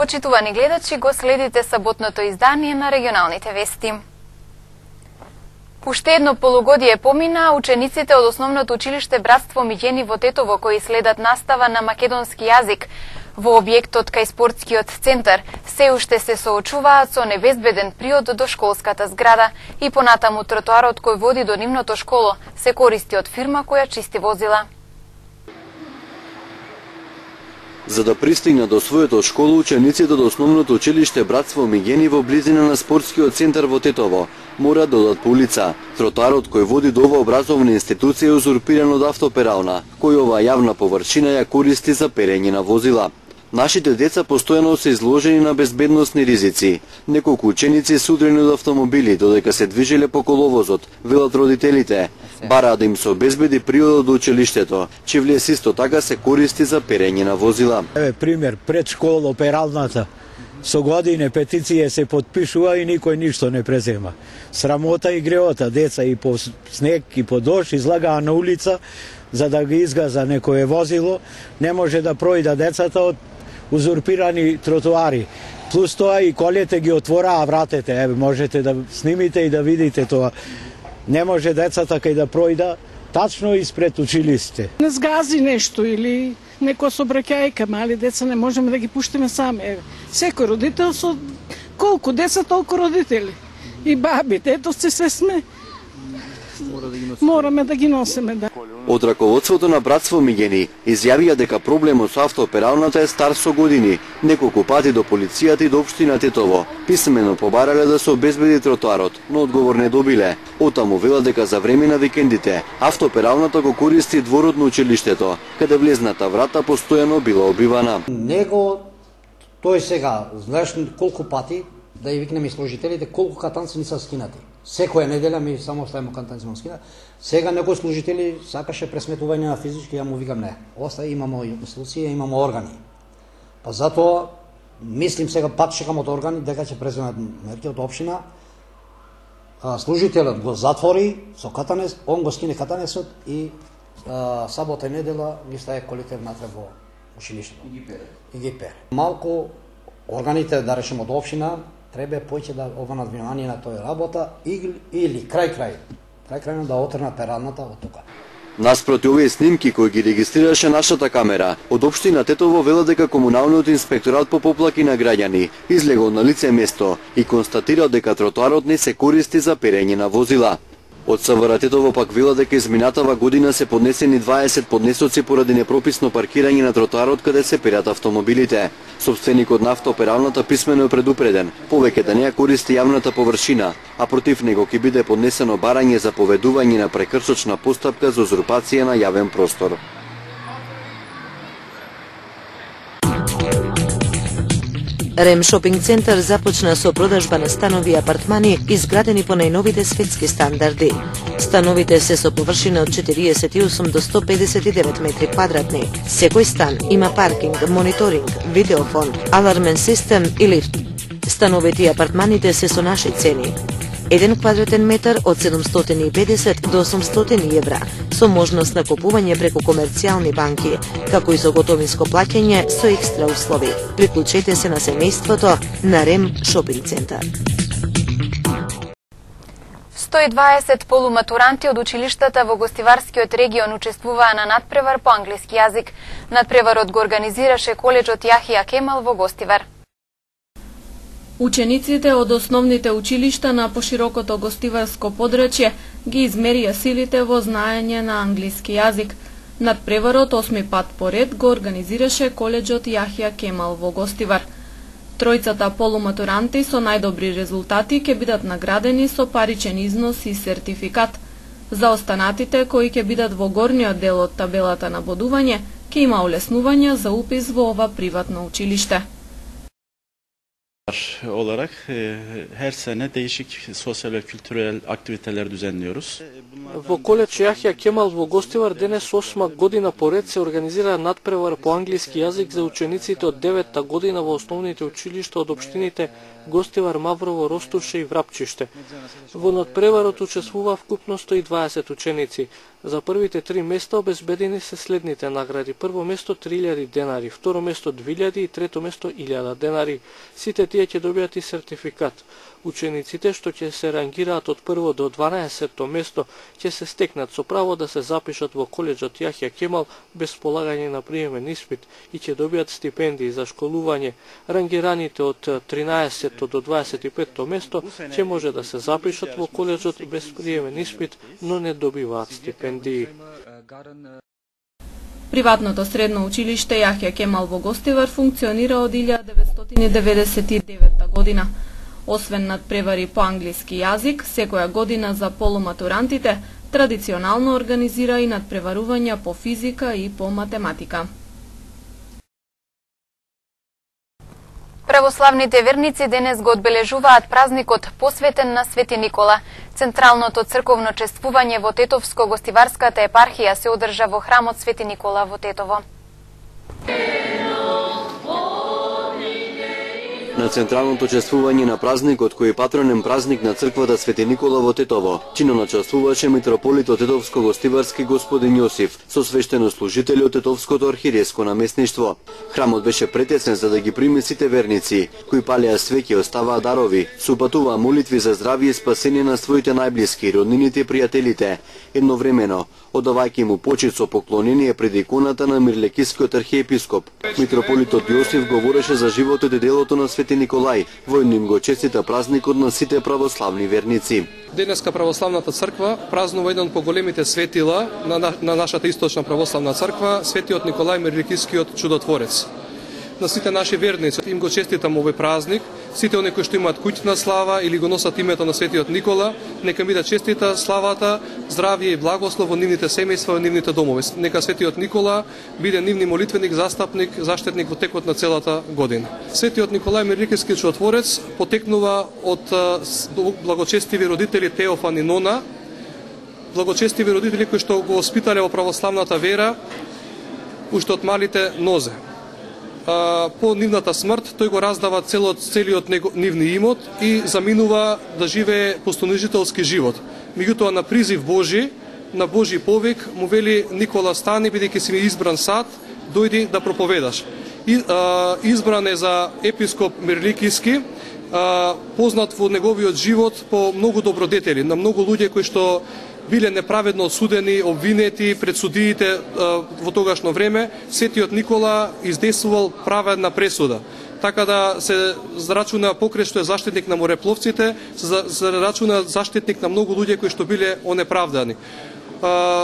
почитувани гледачи, го следите саботното издание на регионалните вести. Уште едно полугодие помина, учениците од Основното училиште Братство Миѓени во Тетово, кои следат настава на македонски јазик во објектот кај спортскиот центар, се уште се соочуваат со небезбеден приод до школската зграда и понатаму тротоарот кој води до нивното школо се користи од фирма која чисти возила. За да пристигнат до својата школа, учениците од Основното училиште Братство Миѓени во близина на спортскиот центар во Тетово мора да одат по улица. Тротоарот кој води до оваа образовна институција е узурпиран од автоперална, кој оваа јавна површина ја користи за перење на возила. Нашите деца постојано се изложени на безбедносни ризици. Неколку ученици се удрени од автомобили додека се движеле по коловозот, велат родителите. Бараат да им се обезбеди приодот до училиштето, чивлиес исто така се користи за перење на возила. Еве пример, пред школа пералната. Со години петиција се потпишува и никој ништо не презема. Срамота и греота, деца и по снег и по дожд излагаа на улица за да ги изгаза некое возило, не може да пројда децата од узурпирани тротоари. Плюс тоа и колите ги отвораа вратите, еве можете да снимите и да видите тоа. Не може децата кај да пројда тачно испред училиште. Не сгази нешто или некоја собраќајка, мали деца не можеме да ги пуштиме сами. Еве, секој родител со колку деца толку родители. И бабите, ето се сме. Мораме да ги носиме, да. Од раководството на Братство Миѓени изјавија дека проблемот со автопералната е стар со години. Неколку пати до полицијата и до општина Тетово писмено побарале да се обезбеди тротоарот, но одговор не добиле. Оттаму велат дека за време на викендите автопералната го користи дворот на училиштето, каде влезната врата постојано била обивана. Него тој сега, знаеш колку пати да ја викнеме служителите, колку катанци не се скинати. Секоја неделја ми само оставаме катанци на скина. Сега некои служители сакаше пресметување на физички, ја му викам не. Остај, имамо институција, имамо органи. Па затоа мислим сега пак чекам од органи дека ќе преземат мерки од општина. Служителот го затвори со катанец, он го скине катанецот и сабота и недела ги стае колите внатре во училиштето. И ги пере. Малку органите, да речем од општина, треба поќе да обрнат внимание на тој работа или крај да отрнат пералната од тука. Наспроти овие снимки кои ги регистрираше нашата камера, од општина Тетово велат дека комуналниот инспекторат по поплаки на граѓани излегол на лице место и констатирал дека тротоарот не се користи за перење на возила. Од СВР Тетово пак велат дека изминатава година се поднесени 20 поднесоци поради непрописно паркирање на тротоарот каде се перат автомобилите. Сопственикот на автопералната писмено е предупреден, повеќе да не ја користи јавната површина, а против него ќе биде поднесено барање за поведување на прекршочна постапка за узурпација на јавен простор. Рем шопинг центар започна со продажба на станови и апартмани изградени по најновите светски стандарди. Становите се со површина од 48 до 159 метри квадратни. Секој стан има паркинг, мониторинг, видеофон, алармен систем и лифт. Становите и апартманите се со наши цени. 1 квадратен метар од 750 до 800 евра, со можност на купување преку комерцијални банки, како и со готовинско плаќање со екстра услови. Приклучете се на семејството на Рем шопинг центар. 120 полуматуранти од училиштата во гостиварскиот регион учествуваа на надпревар по англиски јазик. Надпреварот го организираше коледжот Јахија Кемал во Гостивар. Учениците од основните училишта на поширокото гостиварско подрачје ги измерија силите во знаење на англиски јазик. Надпреварот 8 пат поред го организираше коледжот Јахија Кемал во Гостивар. Тројцата полуматуранти со најдобри резултати ќе бидат наградени со паричен износ и сертификат. За останатите кои ќе бидат во горниот дел од табелата на бодување, ќе има олеснување за упис во ова приватно училиште. olarak her sene değişik sosyal ve kültürel aktiviteler düzenliyoruz. Во коледж Јахја Кемал во Гостивар денес 8 година поред се организира надпревар по англиски јазик за учениците од 9-та година во основните училишта од општините Гостивар, Маврово, Ростуше и Врапчиште. Во надпреварот учествува вкупно 120 ученици. За првите 3 места обезбедени се следните награди. Прво место 3000 денари, второ место 2000 и трето место 1000 денари. Сите тие ќе добијат и сертификат. Учениците што ќе се рангираат од прво до 12-то место ќе се стекнат со право да се запишат во коледжот Јахја Кемал без полагање на приемен испит и ќе добијат стипендии за школување. Рангираните од 13-то до 25-то место ќе може да се запишат во коледжот без приемен испит, но не добиваат стипендии. Приватното средно училиште Јахја Кемал во Гостивар функционира од 1999 година. Освен надпревари по англиски јазик, секоја година за полуматурантите традиционално организира и надпреварувања по физика и по математика. Православните верници денес го одбележуваат празникот посветен на Свети Никола. Централното црковно чествување во Тетовско-гостиварската епархија се одржа во храмот Свети Никола во Тетово. На централното чествување на празникот, кој е патронен празник на црквата Свети Никола во Тетово, чинно чествуваше митрополитот Тетовско-гостиварски господин Јосиф со свештенослужители од Тетовското архиереско наместништво. Храмот беше претесен за да ги прими сите верници, кои палеа свеќе, оставаа дарови, супатуваа молитви за здравје и спасение на своите најблиски, роднините и пријателите. Едновремено, одавајќи му почит со поклонение пред иконата на Мирлекискиот архиепископ. Митрополитот Јосиф говореше за животот и делото на Свети Николај, војно им го честита празникот на сите православни верници. Денеска православната црква празнува еден од поголемите светила на нашата источна православна црква, Светиот Николај Мирлекискиот чудотворец. На сите наши верници им го честитам овој празник, сите оние кои што имаат куќна слава или го носат името на Светиот Никола, нека ми да честита славата, здравје и благослов во нивните семејства, во нивните домови. Нека Светиот Никола биде нивни молитвеник, застапник, заштитник во текот на целата година. Светиот Николај Мирлекиски чудотворец потекнува од благочестиви родители Теофан и Нона, благочестиви родители кои што го воспитале во православната вера уште од малите нозе. По нивната смрт тој го раздава целиот нивни имот и заминува да живее постонижителски живот. Меѓутоа на призив Божи, на Божи повик, му вели: Никола, стани, бидејќи си ми избран сад, дојди да проповедаш. Избран е за епископ Мирлекиски, познат во неговиот живот по многу добродетели, на многу луѓе кои што биле неправедно осудени, обвинети пред судиите во тогашно време. Светиот Никола издействувал праведна пресуда. Така да се зарачуна покрај што е заштитник на морепловците, се зарачуна заштитник на многу луѓе кои што биле онеправдани.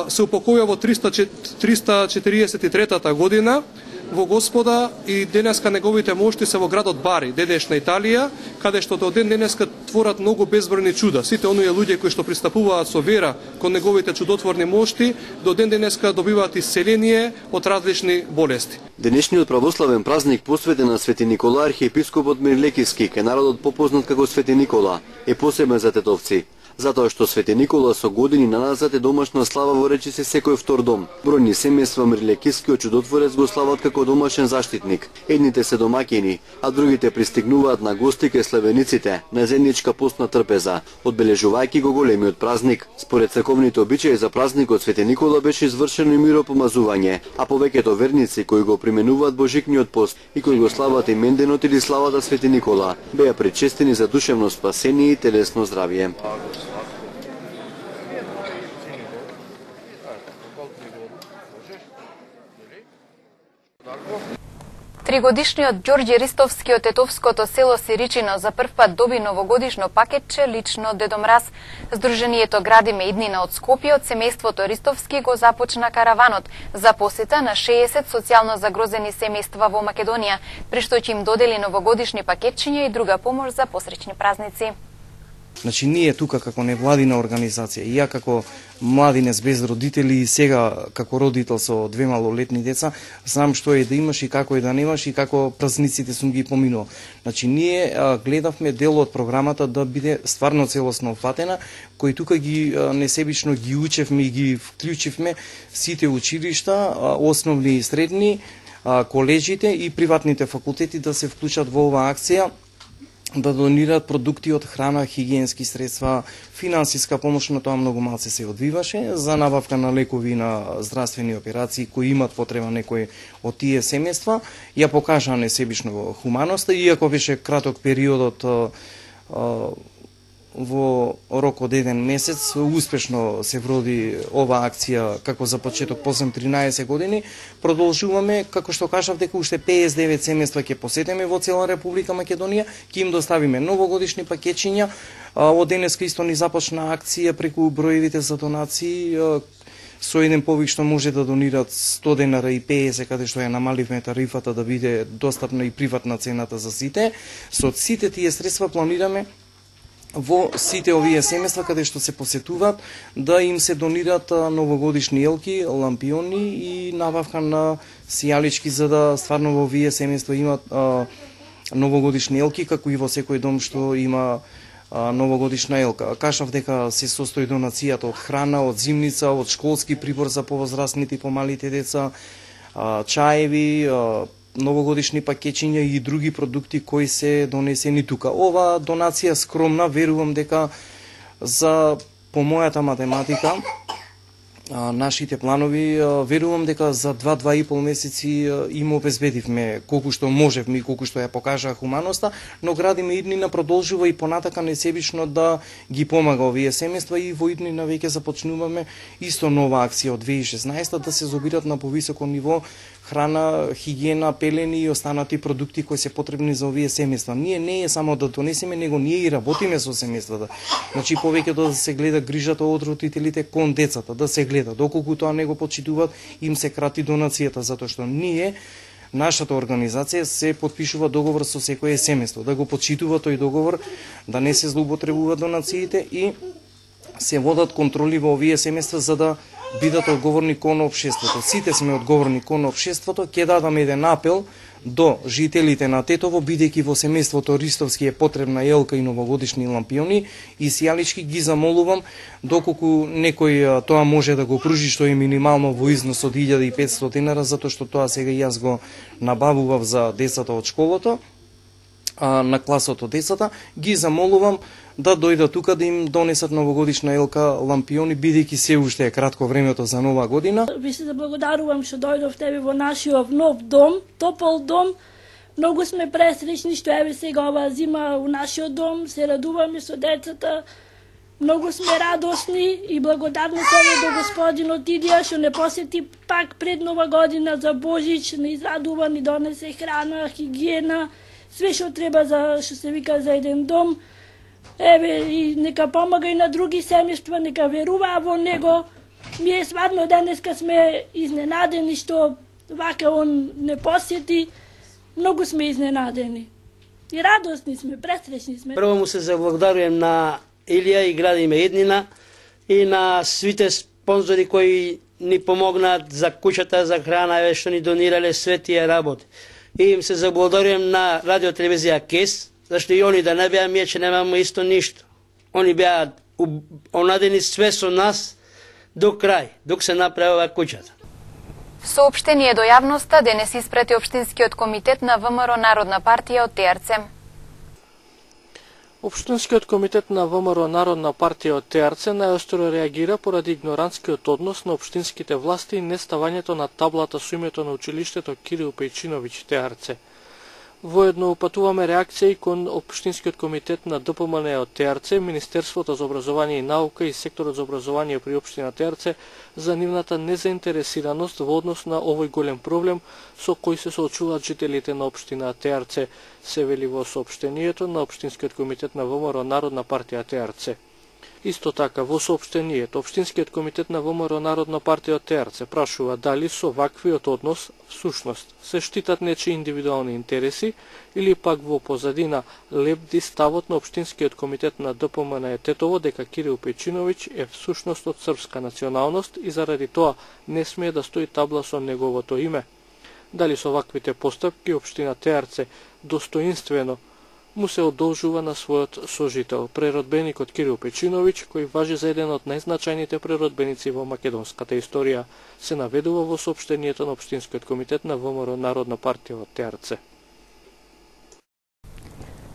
Се упокоја во 343 година во Господа и денеска неговите мошти се во градот Бари, денешна Италија, каде што до ден денеска творат многу безбројни чуда. Сите оние луѓе кои што пристапуваат со вера кон неговите чудотворни мошти, до ден денеска добиваат исцеление од различни болести. Денешниот православен празник посветен на Свети Никола, архиепископот Мирлекиски, ке народот попознат како Свети Никола, е посебен за тетовци. Затоа што Свети Никола со години наназад е домашна слава во речиси секој втор дом. Бројни семејства Мирлекискиот чудотворец го слават како домашен заштитник. Едните се домаќини, а другите пристигнуваат на гости кај славениците на заедничка постна трпеза, одбележувајќи го големиот празник. Според црковните обичаи за празникот Свети Никола беше извршено и миропомазување, а повеќето верници кои го применуваат божикниот пост и кои го слават именденот или славата Свети Никола, беа причестени за душевно спасение и телесно здравје. Тригодишниот Ѓорѓи Ристовски од Тетовското село Сиричино за прв пат доби новогодишно пакетче лично од Дедо Мраз. Сдруженијето Градиме иднина од Скопје од семејството Ристовски го започна караванот за посета на 60 социјално загрозени семејства во Македонија, при што ќе им додели новогодишни пакетчиња и друга помош за посреќни празници. Значи, ние тука како невладина организација, и ја како младинец без родители и сега како родител со 2 малолетни деца, знам што е да имаш и како е да немаш и како празниците сум ги поминувал. Значи, ние гледавме дел од програмата да биде стварно целосно опфатена, кои тука ги несебично ги учевме и ги вклучивме сите училишта, основни и средни, коледжите и приватните факултети да се вклучат во оваа акција, да донираат продукти од храна, хигиенски средства, финансиска помош, на тоа многу малце се одвиваше, за набавка на лекови на здравствени операции кои имат потреба некои од тие семејства, ја покажаа несебично хуманоста, иако беше краток периодот во рок од 1 месец, успешно се вроди оваа акција како за почеток после 13 години. Продолжуваме, како што кажав, дека уште 59 семејства ќе посетиме во цела Република Македонија, ќе им доставиме новогодишни пакетчиња. Од денеска исто ни започна акција преку броевите за донации, со еден повик што може да донират 100 денара и 50, каде што ја намаливме тарифата да биде достапна и приватна цената за сите. Со сите тие средства планираме во сите овие семејства каде што се посетуваат да им се донират новогодишни елки, лампиони и набавка на сијалички, за да стварно во овие семејства имат новогодишни елки, како и во секој дом што има новогодишна елка. Кажав дека се состои донацијата од храна, од зимница, од школски прибор за повозрастните и помалите деца, чаеви, новогодишни пакетчиња и други продукти кои се донесени тука. Ова донација скромна, верувам дека по мојата математика, нашите планови, верувам дека за 2-2,5 месеци им обезбедивме колку што можевме и колку што ја покажаа хуманоста, но градиме иднина продолжува и понатака несебично да ги помага овие семејства и во иднина веќе започнуваме исто нова акција од 2016 да се зобират на повисоко ниво храна, хигиена, пелени и останати продукти кои се потребни за овие семејства. Ние не е само да донесеме, него ние и работиме со семејствата. Значи повеќе да се гледа грижата од родителите кон децата, да се гледа доколку тоа не го почитуваат, им се крати донацијата, затоа што ние, нашата организација, се подпишува договор со секое семејство, да го почитува тој договор, да не се злоупотребуваат донациите и се водат контроли во овие семејства за да бидат одговорни кон општеството. Сите сме одговорни кон општеството. Ќе дадам еден апел до жителите на Тетово, бидејќи во семејството Ристовски е потребна елка и новогодишни лампиони и сијалички, ги замолувам доколку некој тоа може да го пружи, што е минимално во износ од 1500 денара, затоа што тоа сега јас го набавував за децата од школото, на класот од децата, ги замолувам да дојдат тука да им донесат новогодишна елка, лампиони, бидејќи се уште е кратко времето за нова година. Ви се заблагодарувам што дојдовте во нашиот нов дом, топол дом. Многу сме пресречни што еве сега ова зима у нашиот дом, се радуваме со децата. Многу сме радосни и благодарни се до господинот Идија што не посети пак пред нова година за Божич, не израдува, ни донесе храна, хигиена, све што треба за, што се вика, за еден дом. Еве, и нека помага и на други семејства, нека веруваа во него. Ние стварно денеска сме изненадени што вака он не посети. Многу сме изненадени. И радосни сме, пресречни сме. Прво му се заблагодарувам на Илија и градиме еднина и на сите спонзори кои ни помогнаат за куќата, за храна, еве што ни донирале све тие работи. И им се заблагодарувам на радио телевизија КЕС, зашто и они да не беа ние, че немаме исто ништо. Они беа онадени све со нас до крај, док се направила куќата. Соопштение до јавноста денес испрати Општинскиот комитет на ВМРО Народна партија од ТРЦ. Општинскиот комитет на ВМРО Народна партија од ТРЦ најостро реагира поради игнорантскиот однос на општинските власти и неставањето на таблата со името на училиштето Кирил Пејчиновиќ ТРЦ. Воедно упатуваме реакција и кон Општинскиот комитет на ДПМН од ТРЦ, Министерството за образование и наука и секторот за образование при општина ТРЦ за нивната незаинтересираност во однос на овој голем проблем со кој се соочуваат жителите на општина ТРЦ, се вели во соопштението на Општинскиот комитет на ВМРО Народна партија ТРЦ. Исто така, во соопштението, Општинскиот комитет на ВМРО Народна партија ТРЦ прашува дали со ваквиот однос всушност се штитат нечии индивидуални интереси или пак во позадина лебди ставот на Општинскиот комитет на ДПМН Тетово дека Кирил Печиновиќ е всушност од српска националност и заради тоа не смее да стои табла со неговото име. Дали со ваквите постапки Општина ТРЦ достоинствено му се одолжува на својот сожител, преродбеникот Кирил Печиновиќ, кој важи за еден од најзначајните преродбеници во македонската историја, се наведува во соопштението на Општинскиот комитет на ВМРО Народна партија ТРЦ.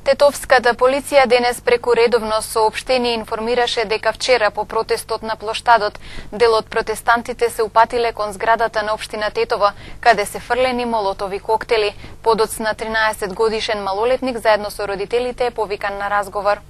Тетовската полиција денес преку редовно соопштение информираше дека вчера по протестот на плоштадот дел од протестантите се упатиле кон зградата на општина Тетово, каде се фрлени молотови коктели. Подоцна на 13 годишен малолетник заедно со родителите е повикан на разговор.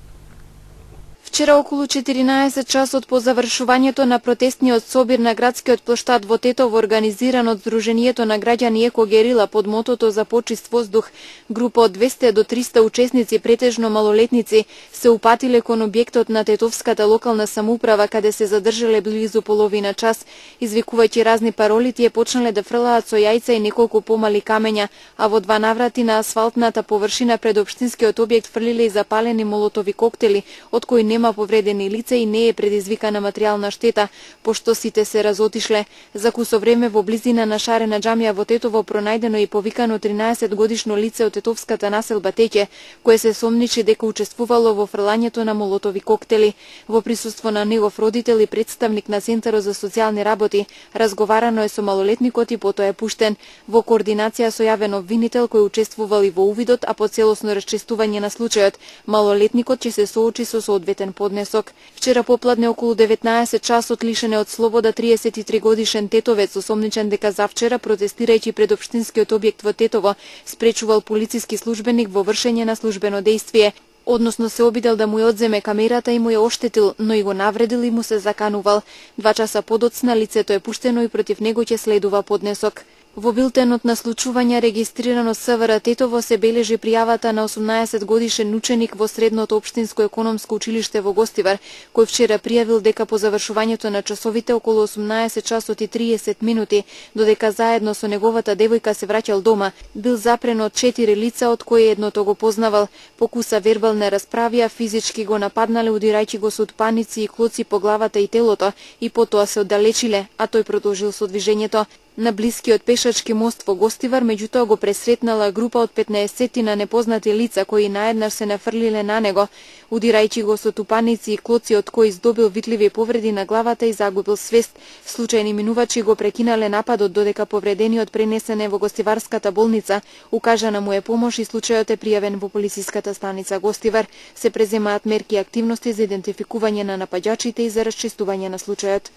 Вчера околу 14 часот по завршувањето на протестниот собир на градскиот плоштад во Тетово, организиран од Сдруженијето на граѓани Еко Герила под мотото за почист воздух, група од 200 до 300 учесници, претежно малолетници, се упатиле кон објектот на Тетовската локална самоуправа, каде се задржале близу половина час, извикувајќи разни пароли, тие почнале да фрлаат со јајца и неколку помали камења, а во два наврати на асфалтната површина пред општинскиот објект фрлиле и запалени молотови коктели, од кои нема повредени лица и не е предизвикана материјална штета, пошто сите се разотишле. За кусо време во близина на шарена џамија во Тетово пронајдено и повикано 13 годишно лице од тетовската населба Теќе, кое се сомничи дека учествувало во фрлањето на молотови коктели. Во присуство на негов родител и представник на Центарот за социјални работи, разговарано е со малолетникот и потоа е пуштен. Во координација со јавен обвинител кој учествувал и во увидот, а по целосно расчистување на случајот, малолетникот ќе се соочи со соодветен поднесок. Вчера попладне околу 19 часот лишен е од слобода 33 годишен тетовец, осомничен дека завчера протестирајќи пред општинскиот објект во Тетово, спречувал полициски службеник во вршење на службено дејствие, односно се обидел да му ја одземе камерата и му ја оштетил, но и го навредил и му се заканувал. 2 часа подоцна лицето е пуштено и против него ќе следува поднесок. Во билтенот на случување регистрирано СВР Тетово се бележи пријавата на 18 годишен ученик во Средното општинско економско училиште во Гостивар, кој вчера пријавил дека по завршувањето на часовите околу 18 часот и 30 минути, додека заедно со неговата девојка се враќал дома, бил запрен од 4 лица, од кои едното го познавал. Покуса вербална расправија, физички го нападнале, удирајќи го со утпаници и клоци по главата и телото, и потоа се оддалечиле, а тој продолжил со движењето. На блискиот пешачки мост во Гостивар, меѓутоа го пресретнала група од 15 на непознати лица кои наеднаш се нафрлиле на него, удирајќи го со тупаници и клоци, од кои здобил видливи повреди на главата и загубил свест. Случајни минувачи го прекинале нападот, додека повредениот пренесене во Гостиварската болница, укажана му е помош и случајот е пријавен во полициската станица Гостивар. Се преземаат мерки и активности за идентификување на напаѓачите и за расчистување на случајот.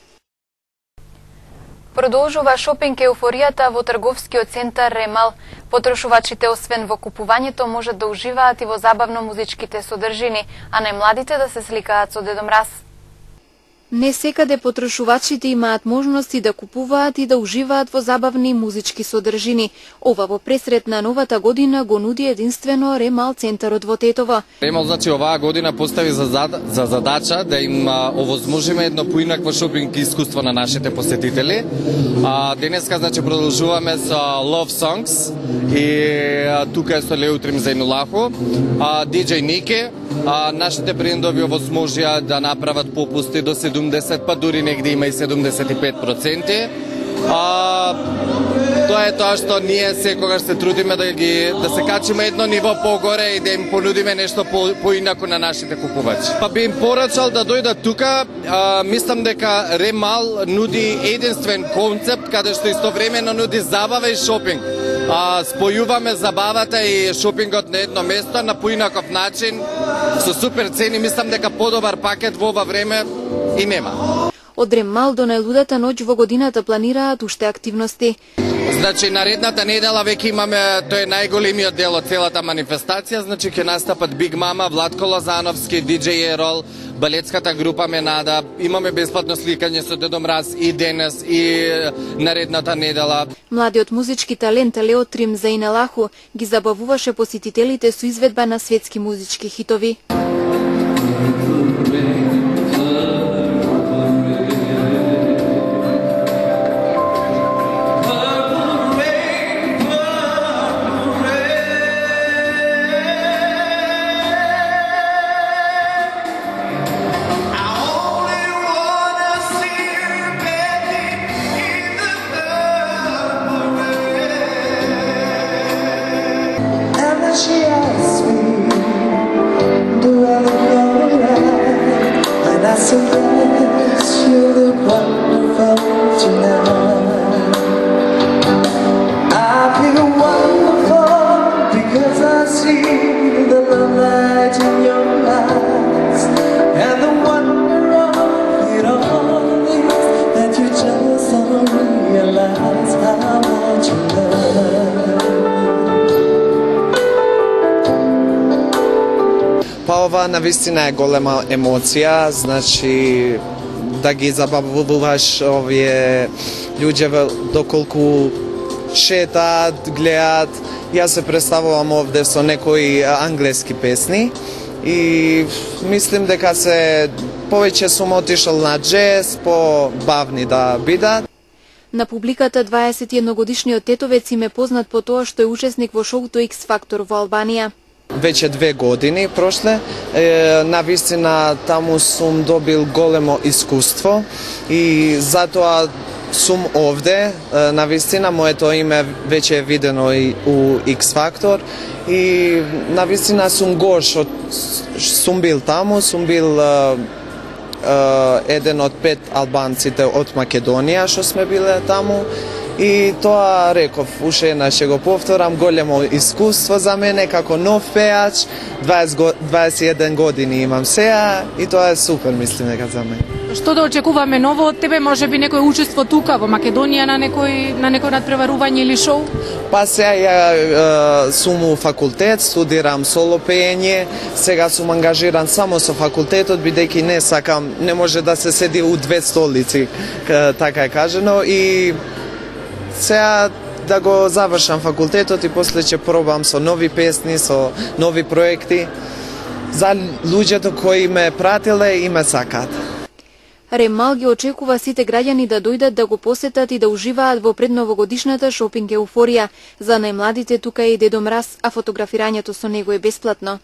Продолжува шопинг еуфоријата во трговскиот центар Ремал. Потрошувачите освен во купувањето можат да уживаат и во забавно-музичките содржини, а најмладите да се сликаат со Дедо Мраз. Не секаде потрошувачите имаат можности да купуваат и да уживаат во забавни музички содржини. Ова во пресрет на новата година го нуди единствено Ремал центарот во Тетово. Ремал оваа година постави за задача да им овозможиме едно поинакво шопинг искуство на нашите посетители. Денеска продолжуваме со Love Songs и тука е со Леутрим Зајнулахо, DJ Нике. Нашите брендови овозможија да направат попусти до 70, па дури негде има и 75%. Тоа е тоа што ние секогаш се трудиме да се качиме едно ниво погоре и да им понудиме нешто поинако на нашите купувачи. Па би им порачал да дојдат тука. Мислам дека Ремал нуди единствен концепт каде што истовремено нуди забава и шопинг. Спојуваме забавата и шопингот на едно место на поинаков начин, со супер цени. Мислам дека подобар пакет во ова време и нема. Од Ремал до најлудата ноќ во годината планираат уште активности. Наредната недела веќе имаме, тој е најголемиот дел од целата манифестација, ќе настапат Биг Мама, Владко Лозановски, DJ Ерол, балетската група Менада, имаме бесплатно сликање со Дедо Мраз и денес и наредната недела. Младиот музички талент Леутрим Зајнулахо ги забавуваше посетителите со изведба на светски музички хитови. ова навистина е голема емоција, значи да ги забавуваш овие луѓе доколку шетаат, гледаат. Јас се представувам овде со некои англиски песни и мислим дека се повеќе сум отишол на джез, по-бавни да бидат. На публиката 21-годишниот тетовец им е познат по тоа што е учесник во шоуто X Factor во Албанија. Веќе 2 години прошле, навистина таму сум добил големо искуство и затоа сум овде. Навистина моето име веќе е видено и у X Factor и навистина сум горш, сум бил таму, сум бил еден од 5 албанците од Македонија што сме биле таму. И тоа реков, уште една ќе го повторам, големо искуство за мене како нов пеач, 21 години имам сега и тоа е супер, мислим дека за мене. Што да очекуваме ново од тебе, може би некој учество тука во Македонија на некој надпреварување или шоу? Па сега ја сум у факултет, студирам соло пеење, сега сум ангажиран само со факултетот, бидејќи не сакам, не може да се седи у 2 столици, така е кажено, и сега да го завршам факултетот и после ќе пробам со нови песни, со нови проекти за луѓето кои ме пратиле и ме сакаат. Ремал ги очекува сите граѓани да дојдат да го посетат и да уживаат во предновогодишната шопинг еуфорија. За најмладите тука е и Дедо Мраз, а фотографирањето со него е бесплатно.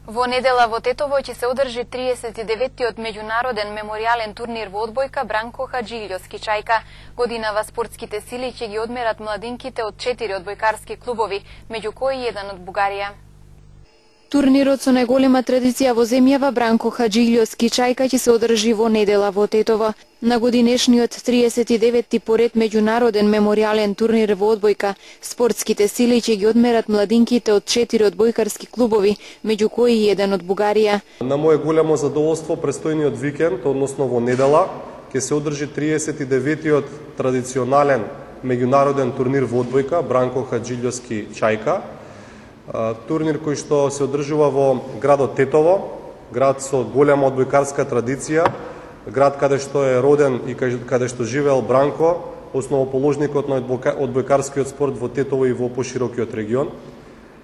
Во недела во Тетово ќе се одржи 39-тиот меѓународен меморијален турнир во одбојка Бранко Хаджилјовски Чајка. Годинава спортските сили ќе ги одмерат младинките од 4 одбојкарски клубови, меѓу кои еден од Бугарија. Турнирот со најголема традиција во земјава Бранко Хаджилјовски Чајка ќе се одржи во недела во Тетово. На годинешниот 39-ти поред меѓународен меморијален турнир во одбојка, спортските сили ќе ги одмерат младинките од 4 одбојкарски клубови, меѓу кои и еден од Бугарија. На моје големо задоволство, престојниот викенд, односно во недела, ќе се одржи 39-тиот традиционален меѓународен турнир во одбојка Бранко Хаджилјовски Чајка. Турнир кој што се одржува во градот Тетово, град со голема одбојкарска традиција, град каде што е роден и каде што живеел Бранко, основоположникот на одбојкарскиот спорт во Тетово и во поширокиот регион.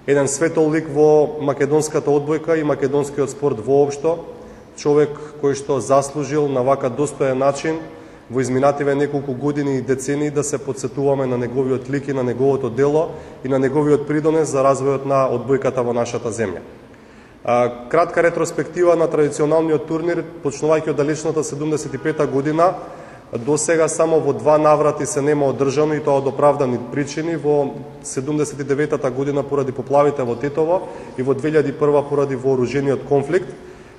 Еден светол лик во македонската одбојка и македонскиот спорт воопшто, човек кој што заслужил на вака достоен начин во изминативе неколку години и децении да се потсетуваме на неговиот лик и на неговото дело и на неговиот придонес за развојот на одбојката во нашата земја. Кратка ретроспектива на традиционалниот турнир, почнувајќи од далечната 75-та година, до сега само во 2 наврати се нема одржано и тоа од оправдани причини, во 79-та година поради поплавите во Тетово и во 2001 поради вооружениот конфликт.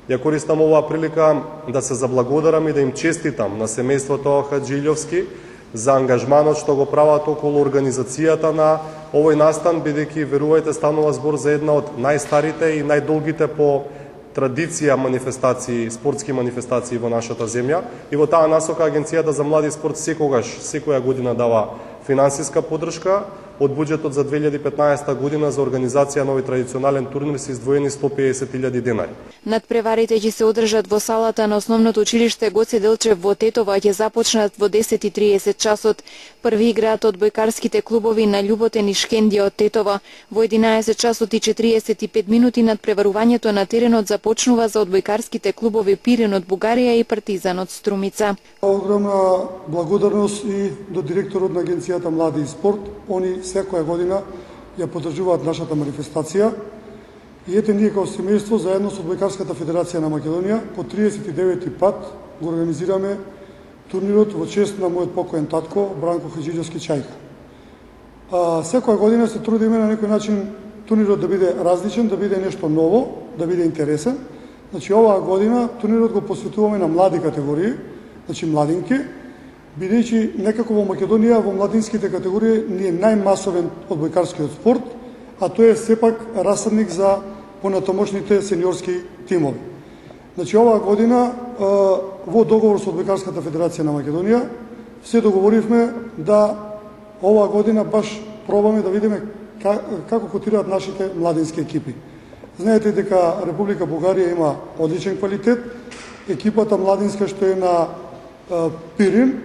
Ја користам оваа прилика да се заблагодарам и да им честитам на семејството Хаджилјовски за ангажманот што го прават околу организацијата на овој настан, бидејќи, верувајте, станува збор за една од најстарите и најдолгите по традиција манифестации, спортски манифестации во нашата земја. И во таа насока Агенцијата за млади спорт секоја година дава финансиска поддршка. Од буџетот за 2015 година за организација на овој традиционален турнир се издвоени 150.000 денари. Надпреварите ќе се одржат во салата на основното училиште Гоце Делчев во Тетово, ќе започнат во 10:30 часот. Први играат одбојкарските клубови на Љуботен и Шкендија од Тетово. Во 11 часот и 45 минути надпреварувањето на теренот започнува за одбојкарските клубови Пирин од Бугарија и Партизан од Струмица. Огромна благодарност и до директорот на Агенцијата Млади и спорт. Они секоја година ја поддржуваат нашата манифестација. И ете, ние како семејство заедно со Одбојкарската федерација на Македонија по 39-ти пат го организираме турнирот во чест на мојот покоен татко Бранко Хаджилјовски Чајка. Секоја година се трудиме на некој начин турнирот да биде различен, да биде нешто ново, да биде интересен. Значи, оваа година турнирот го посветуваме на млади категории, значи младинки, бидејќи некако во Македонија во младинските категории ни е најмасовен одбојкарскиот спорт, а тој е сепак расадник за понатамошните сениорски тимови. Значи, оваа година во договор со Одбојкарската федерација на Македонија се договоривме да оваа година баш пробаме да видиме како котираат нашите младински екипи. Знаете дека Република Бугарија има одличен квалитет. Екипата младинска што е на Пирин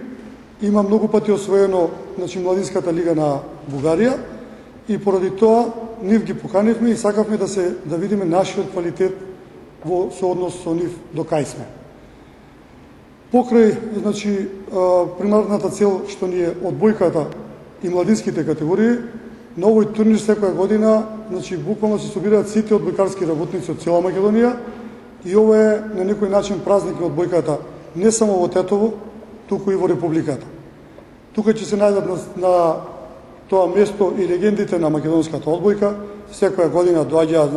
има многу пати освоено, младинската лига на Бугарија и поради тоа нив ги поканивме и сакавме да видиме нашиот квалитет во сооднос со нив до кај сме. Покрај, примарната цел што ни е одбојката и младинските категории, на овој турнир секоја година, буквално се собираат сите одбојкарски работници од цела Македонија и ова е на некој начин празник на одбојката не само во Тетово, туку и во Републиката. Тука ќе се најдат на тоа место и легендите на македонската одбојка. Секоја година доаѓаат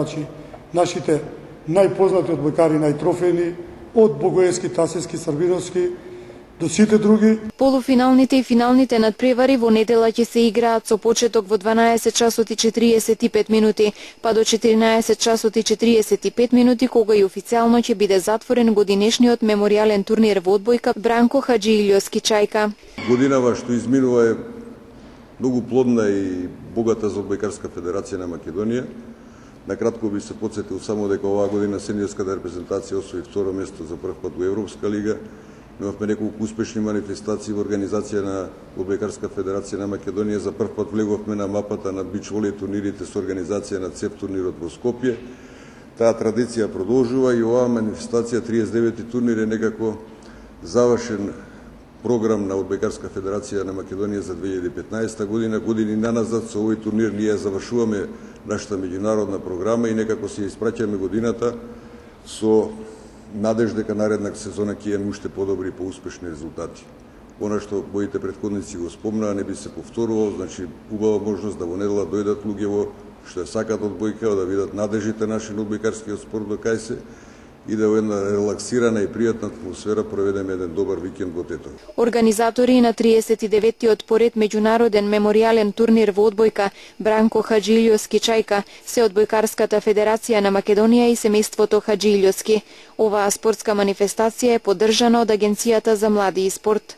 нашите најпознати одбојкари, најтрофејни, од Богоевски, Тасевски, Србиновски, до сите други. Полуфиналните и финалните надпревари во недела ќе се играат со почеток во 12 часот и 45 минути, па до 14 часот и 45 минути, кога и официјално ќе биде затворен годинешниот меморијален турнир во одбојка Бранко Хаджилјовски Чајка. Годинава што изминува е многу плодна и богата за Одбојкарска федерација на Македонија. Накратко би се подсетил само дека оваа година сениорската репрезентација освои второ место за прв пат во Европска лига. Имавме неколку успешни манифестации во организација на Одбојкарска федерација на Македонија. За прв пат влеговме на мапата на бич волей турнирите со организација на ЦЕФ турнирот во Скопје. Таа традиција продолжува и оваа манифестација 39-ти турнир е некако завршен програм на Одбојкарска федерација на Македонија за 2015 година. Години наназад со овој турнир ние завршуваме нашата меѓународна програма и некако се испраќаме годината со надеж дека наредна сезона ќе имаме уште подобри и поуспешни резултати. Она што моите претходници го спомнаа не би се повторувало, убава можност да во недела дојдат луѓе што ја сакат одбојка, да видат надежите наши на одбојкарскиот спорт до кај се и да во една релаксирана и пријатна атмосфера проведеме еден добар викенд во Тетово. Организатори на 39-тиот поред меѓународен меморијален турнир во одбојка Бранко Хаджилјовски Чајка се Одбојкарската федерација на Македонија и семејството Хаджилјовски. Оваа спортска манифестација е поддржана од Агенцијата за млади и спорт.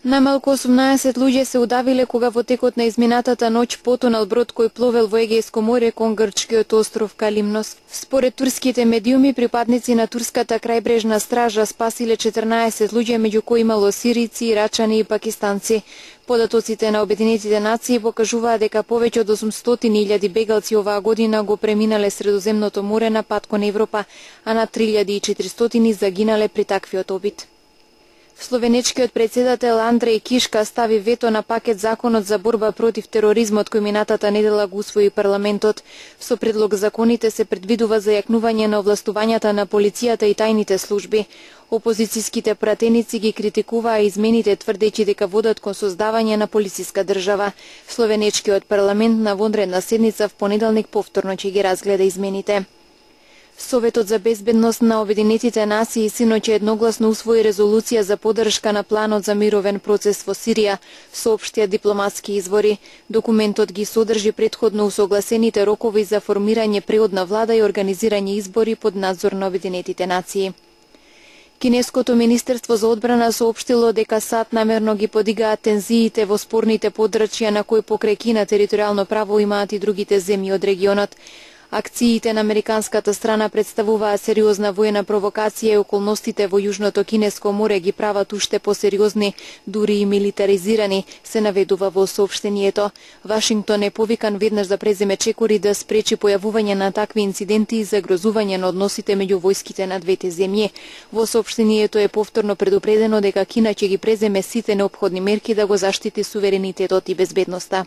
Најмалку 18 луѓе се удавиле кога во текот на изминатата ноќ потонал брод кој пловел во Егејско море кон грчкиот остров Калимнос. Според турските медиуми, припадници на турската крајбрежна стража спасиле 14 луѓе, меѓу кои имало сирици, ирачани и пакистанци. Податоците на Обединетите нации покажуваат дека повеќе од 800.000 бегалци оваа година го преминале Средоземното море на пат кон Европа, а над 3.400 загинале при таквиот обид. Словенечкиот председател Андреј Кишка стави вето на пакет законот за борба против тероризмот кој минатата недела го усвои парламентот. Со предлог законите се предвидува зајакнување на овластувањата на полицијата и тајните служби. Опозицијските пратеници ги критикуваа измените, тврдејќи дека водат кон создавање на полициска држава. Словенечкиот парламент на вонредна седница в понеделник повторно ќе ги разгледа измените. Советот за безбедност на Обединетите нации синоќ едногласно усвои резолуција за поддршка на планот за мировен процес во Сирија, соопштија дипломатски извори. Документот ги содржи претходно усогласените рокови за формирање преодна влада и организирање избори под надзор на Обединетите нации. Кинеското министерство за одбрана соопштило дека САД намерно ги подигаат тензиите во спорните подрачја на кои покрај Кина територијално право имаат и другите земји од регионот. Акциите на американската страна представуваат сериозна воена провокација и околностите во Јужното Кинеско море ги прават уште посериозни, дури и милитаризирани, се наведува во соопштението. Вашингтон е повикан веднаш да преземе чекори да спречи појавување на такви инциденти и загрозување на односите меѓу војските на двете земји. Во соопштението е повторно предупредено дека Кина ќе ги преземе сите неопходни мерки да го заштити суверенитетот и безбедноста.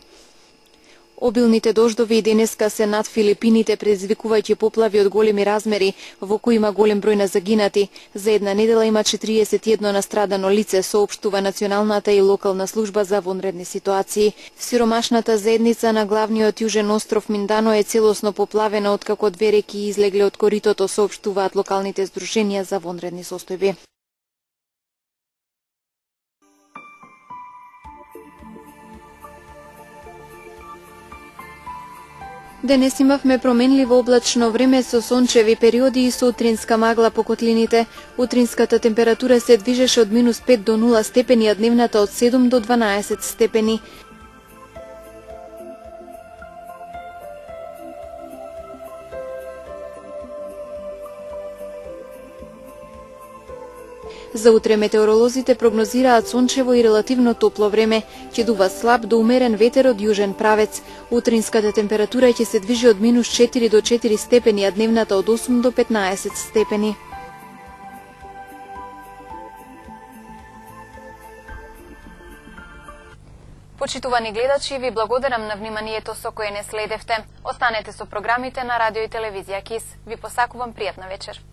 Обилните дождови и денеска се над Филипините, предизвикувајќи поплави од големи размери, во кои има голем број на загинати. За една недела има 41 настрадано лице, соопштува Националната и локална служба за вонредни ситуации. Сиромашната заедница на главниот јужен остров Миндано е целосно поплавена откако две реки излегле од коритото, соопштуваат локалните здруженија за вонредни состојби. Денес имавме променливо облачно време со сончеви периоди и со утринска магла по котлините. Утринската температура се движеше од -5 до 0 степени, а дневната од 7 до 12 степени. За утре метеоролозите прогнозираат сончево и релативно топло време. Ќе дува слаб до умерен ветер од јужен правец. Утринската температура ќе се движи од -4 до 4 степени, а дневната од 8 до 15 степени. Почитувани гледачи, ви благодарам на вниманието со кое не следевте. Останете со програмите на радио и телевизија КИС. Ви посакувам пријатна вечер.